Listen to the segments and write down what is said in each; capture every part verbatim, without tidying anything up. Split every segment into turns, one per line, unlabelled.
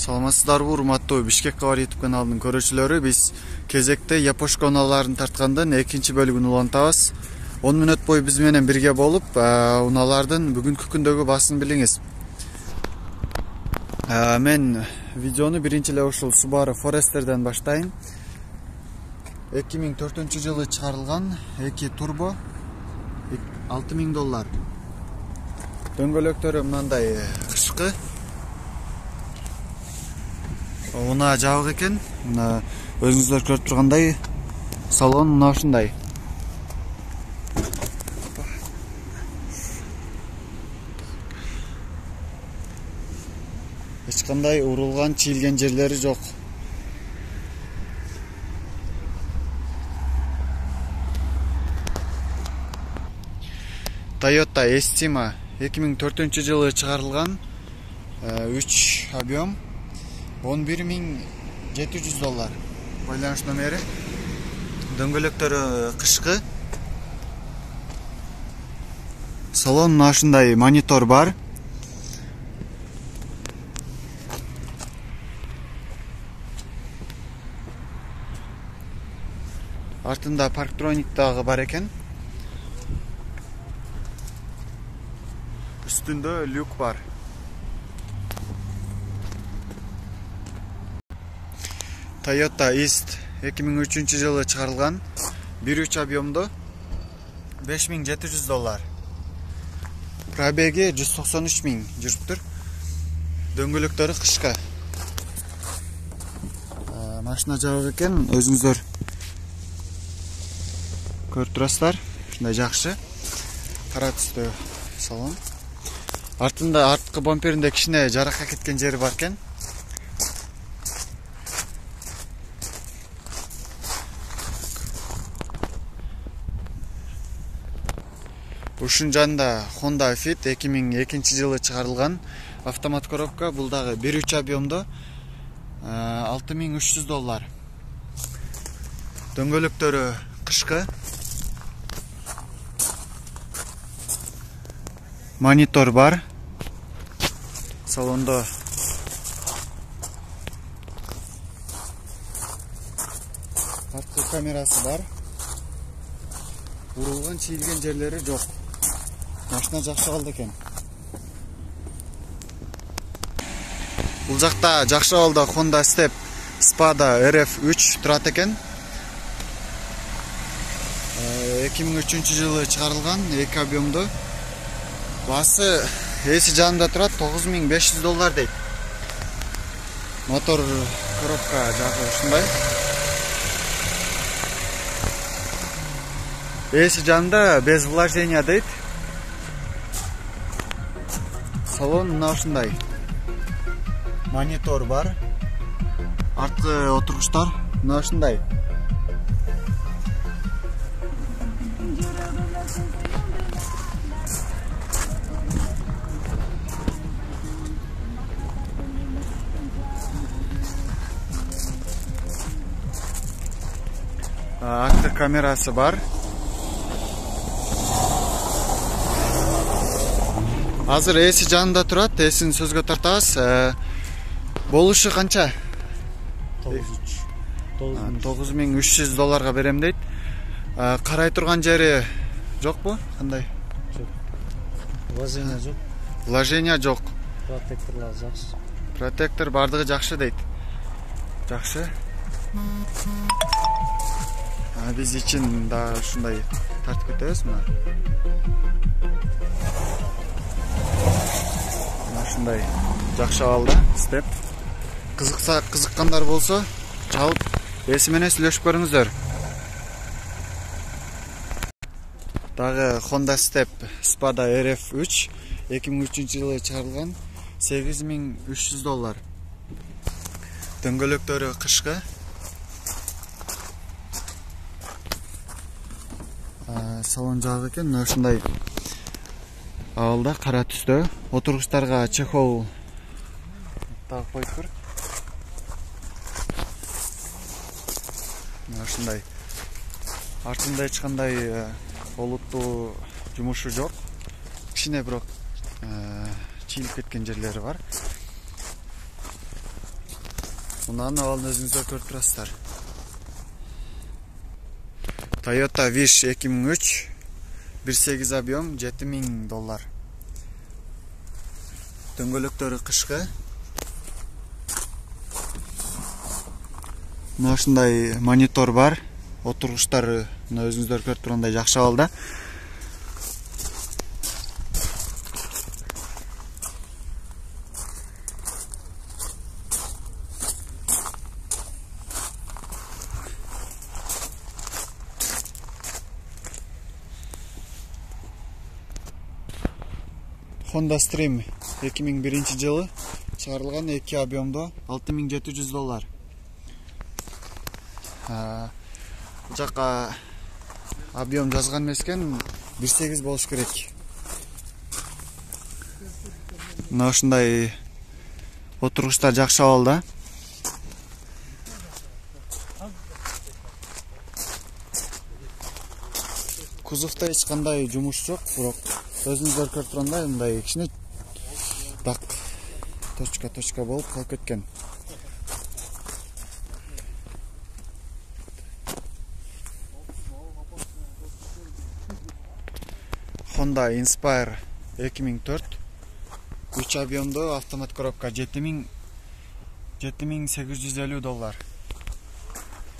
Саламатсыздарбы, урматтуу Бишкек Кабар YouTube каналынын көрүүчүлөрү. Биз кезекте япошка унааларын тарткандын экинчи бөлүгүн улантабыз. он мүнөт бою биз менен бирге болуп, унаалардын бүгүнкү күндөгү баасын билиңиз. Мен видеону биринчи эле ушул Subaru Forester'ден баштайын. эки миң төртүнчү жылы чыгарылган эки турбо, алты миң доллар. Дөңгөлөктөрү мындай кышкы. Унаа жабык экен. Мына өзүңүздөр көрүп тургандай, салон мына ушундай. Эч кандай урулган, чийилген жерлери жок. Toyota Estima эки миң төртүнчү жылы чыгарылган, үч объем, он бир миң жети жүз доллар. Байланыш номери. Дөңгөлөктөрү кышкы. Салон мына ушундай, монитор бар. Артында парктроник дагы бар экен. Үстүндө люк бар. Toyota East эки миң үчүнчү жылы чыгарылган, бир үч объемдо, беш миң жети жүз доллар. Пробеги жүз токсон үч миң жүрүптүр. Дөңгөлөктөрү кышкы. Машина жабык экен, өзүңүздөр көрүп турасыздар. Ушундай жакшы. Кара түстө салон. Артында арткы бамперинде кичине жаракка кеткен жери бар экен. Ушун жанында Honda Fit эки миң экинчи жылы чыгарылган автомат коробка. Бул дагы бир үч объемдо, алты миң үч жүз доллар. Дөңгөлөктөрү кышкы. Монитор бар. Салондо арткы камерасы бар. Урулган, чийилген жерлери жок. Машина жакшы калды экен. Бул жакта жакшы абалда Honda Step Spada эр эф үч турат экен. эки миң үчүнчү жылы чыгарылган, эки объемдо. Басы эси жанында турат, тогуз миң беш жүз доллар дейт. Мотор коробка жагы ушундай. Эси жанында без вложения дейт. Салон мына ушундай. Монитор бар. Арткы отургучтар мына ушундай. Арткы камерасы бар. Азыр эси жанында турат, эсин сөзгө тартабыз. Болушу канча? тогуз миң үч жүз долларга берем дейт. Карай турган жери жокпу? Кандай?
Жок. Вложения жок.
Вложения жок.
Протекторлар жакшы.
Протектор бардыгы жакшы дейт. Жакшы. Биз ичин да ушундай тартып кетебиз мына. Ушундай жакшы абалда степ. Кызыкса, кызыккандар болсо, чалып эси менен сүйлөшүп көрүңүздөр. Дагы Honda Step Spada эр эф үч эки миң үчүнчү жылы чыгарылган, сегиз миң үч жүз доллар. Дөңгөлөктөрү кышкы. Салон жабык экен, мына ушундай абалда, кара түстө. Отургучтарга чехол тагып коюптур. Мына ушундай. Артында эч кандай олуттуу жумушу жок. Кичине бирок чийилип кеткен жерлери бар. Мунун абалын өзүңүздөр көрүп турасыздар. Toyota Wish эки миң үч бир сегиз объем жети миң доллар. Дөңгөлөктөрү кышкы. Мына ушундай монитор бар. Отургучтары мына өзүңүздөр көрүп тургандай жакшы абалда. Honda Stream эки миң биринчи жылы чыгарылган эки объемдо алты миң жети жүз доллар. Бул жака объем жазган эмес экен, бир сегиз болуш керек. Мына ушундай отургучтар жакшы абалда. Кузовдо эч кандай жумуш жок, бирок өзүңүздөр көрүп тургандай мындай кичине так точка точка болуп калып кеткен. Honda Inspire эки миң төрт үч объемдо автомат коробка жети миң сегиз жүз элүү доллар.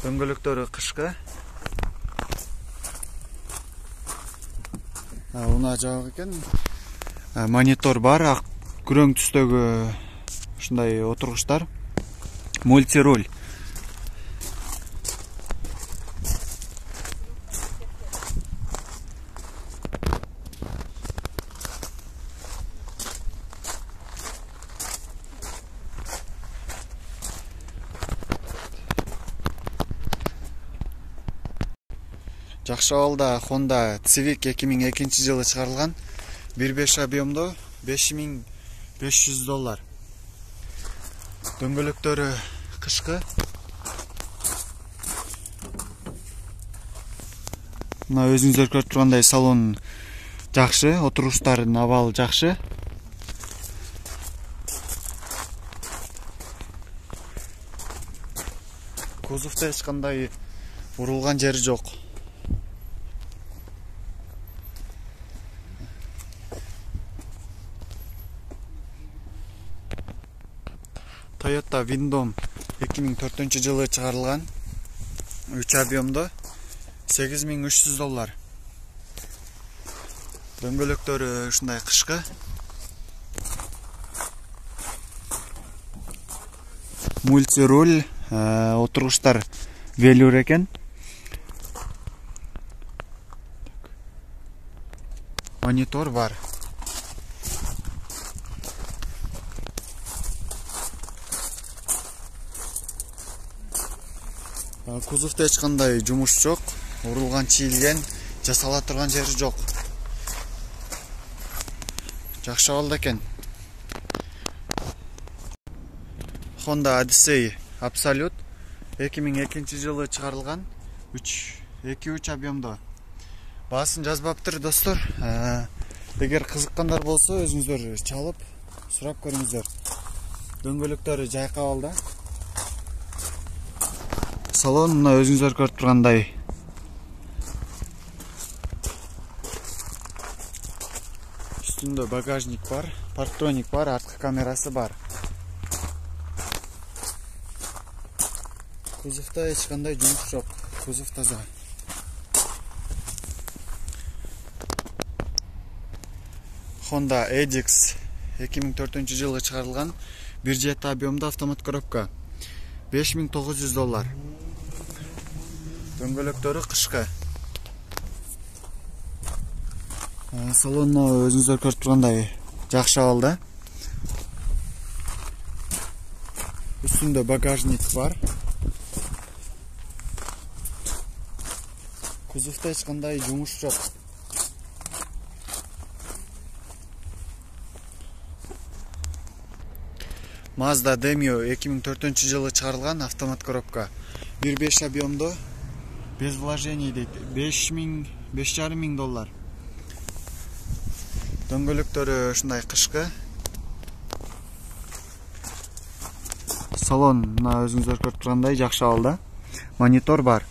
Дөңгөлөктөрү кышкы. Уна жабык экен. Монитор бар, ак күрөң түстөгү ушундай отургучтар. Мультируль. Жакшы абалда Honda Civic эки миң экинчи жылы чыгарылган бир беш объемдо беш миң беш жүз доллар. Дөңгөлөктөрү кышкы. Мына өзүңүздөр көрүп тургандай салон жакшы, отургучтардын абалы жакшы. Кузовдо эч кандай урулган жери жок. Toyota Windom эки миң төртүнчү жылы чыгарылган үч объемдо сегиз миң үч жүз доллар. Дөңгөлөктөрү ушундай кышкы. Мультируль, отургучтар велюр экен. Монитор бар. Кузовдо эч кандай жумуш жок, урулган, чийилген, жасала турган жери жок. Жакшы абалда экен. Honda Odyssey Absolute эки миң экинчи жылы чыгарылган эки үч объемдо. Баасын жазбаптыр достор. Эгер кызыккандар болсо өзүңүздөр чалып сурап көрүңүздөр. Дөңгөлөктөрү жайкы абалда. Салон мына өзүңүздөр көрүп тургандай. Үстүндө багажник бар, парктроник бар, арткы камерасы бар. Кузовдо эч кандай жумуш жок. Кузов таза. Honda Edix эки миң төртүнчү жылы чыгарылган бир жети объемдо автомат коробка беш миң тогуз жүз доллар. Дөңгөлөктөрү кышкы. Салонно өзүңүздөр көрүп тургандай жакшы абалда. Үстүндө багажник бар. Кузовдо эч кандай жумуш жок. Mazda Demio эки миң төртүнчү жылы чыгарылган автомат коробка бир беш объемдо без вложений дейт. беш миң беш жарым миң доллар. Дөңгөлөктөрү ушундай кышкы. салон мына өзүңүздөр көрүп тургандай жакшы абалда. Монитор бар.